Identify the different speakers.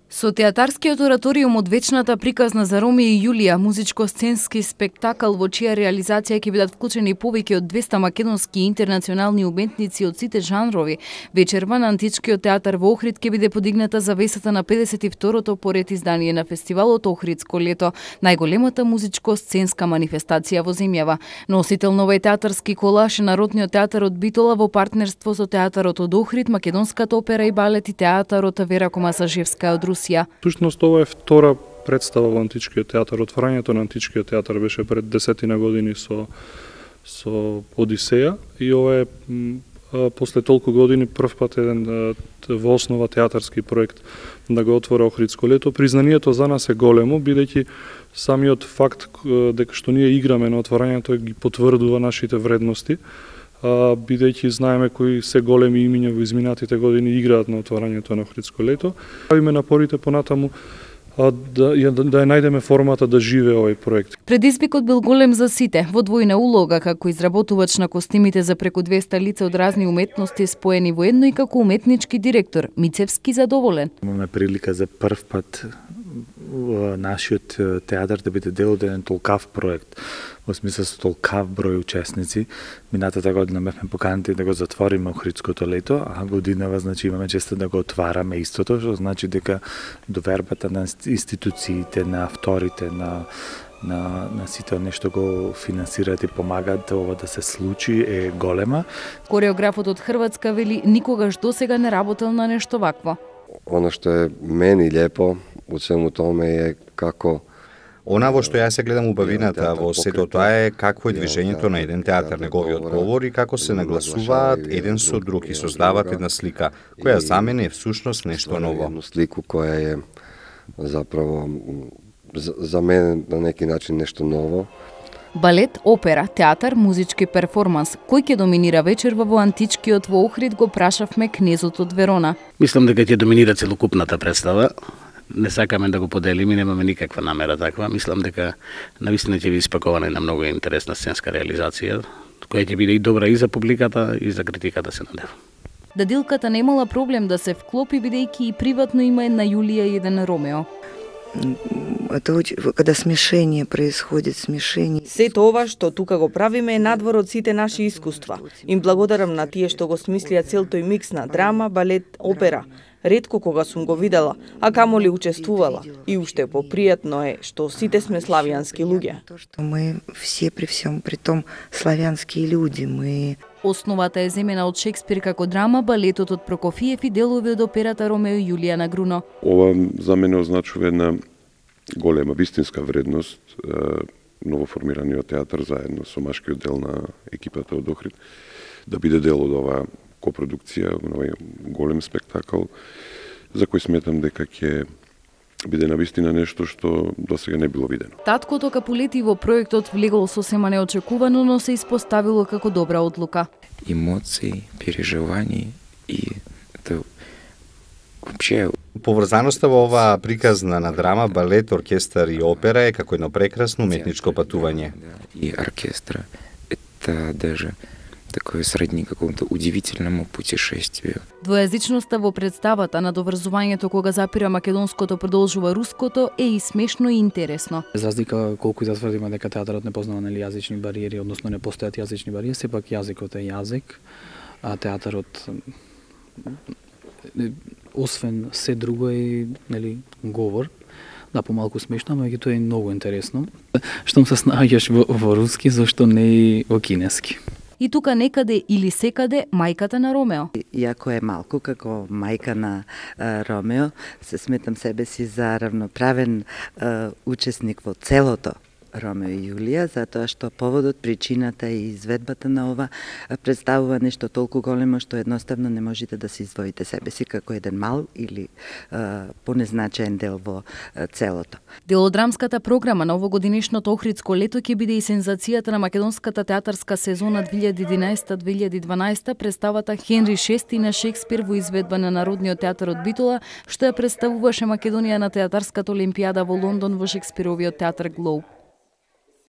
Speaker 1: Со театарскиот ораториум од вечната приказна за Ромео и Јулија, музичко-сценски спектакл во чија реализација ќе бидат вклучени повеќе од 200 македонски и интернационални уметници од сите жанрови, вечерва на Античкиот театар во Охрид ќе биде подигната завесата на 52-то поред издание на фестивалот Охридско лето, најголемата музичко-сценска манифестација во земјава. Носител на овој театарски колаж е Народниот театар од Битола во партнерство со театарот од Охрид, Македонската опера и балет и театарот Вера Комасажевска од Русија.
Speaker 2: Всушност ова е втора представа во Античкиот театар. Отворањето на Античкиот театар беше пред 10 години со Одисеја и ова е после толку години прв пат еден во основа театарски проект да го отвора Охридско лето. Признанието за нас е големо, бидејќи самиот факт дека што ние играме на отворањето ги потврдува нашите вредности, бидејќи знаеме кои се големи имиња во изминатите години играат на отворањето на Охридско лето. Правиме напорите понатаму да ја најдеме формата да живее овој проект.
Speaker 1: Предизвикот бил голем за сите, во двојна улога како изработувач на костимите за преку 200 лица од разни уметности споени во едно и како уметнички директор, Мицевски задоволен.
Speaker 3: Имаме прилика за прв пат нашиот театар да биде дел од еден толкав проект, во смисла со толкав број учесници. Минатата година бевме поканети да го затвориме Охридското лето, а годинава значи имаме честа да го отвараме истото, што значи дека довербата на институциите, на авторите, на сите оние што го финансираат и помагаат ова да се случи е голема.
Speaker 1: Кореографот од Хрватска вели никогаш досега не работел на нешто вакво.
Speaker 4: Оно што е мени лепо од свему томе е како
Speaker 5: Она во што ја се гледам убавината во сето тоа е какво е движењето на еден театар, неговиот говор и како се нагласуваат еден со друг и создаваат една слика, која за мене е всушност нешто ново.
Speaker 4: Слику која е заправо за мене на неки начин нешто ново.
Speaker 1: Балет, опера, театар, музички перформанс. Кој ќе доминира вечерва во Античкиот во Охрид го прашавме кнезот од Верона.
Speaker 6: Мислам дека ќе доминира целокупната представа. Не сакаме да го поделиме, немаме никаква намера таква. Мислам дека навистина ќе биде испакована една многу интересна сценска реализација, која ќе биде и добра и за публиката и за критиката, се надевам.
Speaker 1: Дадилката немала проблем да се вклопи, бидејќи и приватно има една Јулија и еден Ромео.
Speaker 7: Когда смешение происходит, смешение.
Speaker 8: Сето ова што тука го правиме е надвор од сите наши искуства. Им благодарам на тие што го смислија цел тој микс на драма, балет, опера. Ретко кога сум го видела, а камоли учествувала. И уште попријатно е што сите сме славјански луѓе.
Speaker 7: Мы все при всем при том славјански луѓе,
Speaker 1: Основата е земена од Шекспир како драма, балетот од Прокофиев и делови од операта Ромео и Јулија на Груно.
Speaker 9: Ова за мене означува една голема вистинска вредност, новоформираниот театар заедно со машкиот дел на екипата од Охрид, да биде дел од оваа копродукција, овој голем спектакл, за кој сметам дека ќе биде навистина нешто што досега не било видено.
Speaker 1: Таткото Капулети во проектот влегол сосема неочекувано, но се испоставило како добра одлука.
Speaker 10: Емоции, переживања и это вообще
Speaker 5: поврзаноста во оваа приказна на драма, балет, оркестар и опера е како едно прекрасно уметничко патување.
Speaker 10: И оркестра это даже такое сродни какому-то удивителному путешествию.
Speaker 1: Двојазичноста во представата на доврзувањето кога запира македонското продолжува руското е и смешно и интересно.
Speaker 11: За разлика колку и да тврдиме дека театарот не познава јазични бариери, односно не постојат јазични бариери, сепак јазикот е јазик, а театарот освен се друго е говор. Да, помалку смешно, но тоа е многу интересно. Штом се снаоѓаш во руски, зашто не и во кинески.
Speaker 1: И тука некаде или секаде мајката на Ромео.
Speaker 7: Иако е малку како мајка на Ромео, се сметам себе си за равноправен учесник во целото Ромео и Јулија, затоа што поводот, причината и изведбата на ова представува нешто толку големо што едноставно не можете да се издвоите себе си како еден мал или понезначаен дел во целото.
Speaker 1: Дел од драмската програма на овогодинешното Охридско лето ќе биде и сензацијата на македонската театарска сезона 2011-2012, представата Хенри VI на Шекспир во изведба на Народниот театар од Битола, што ја представуваше Македонија на театарската олимпијада во Лондон во Шекспировиот театар Глоуб.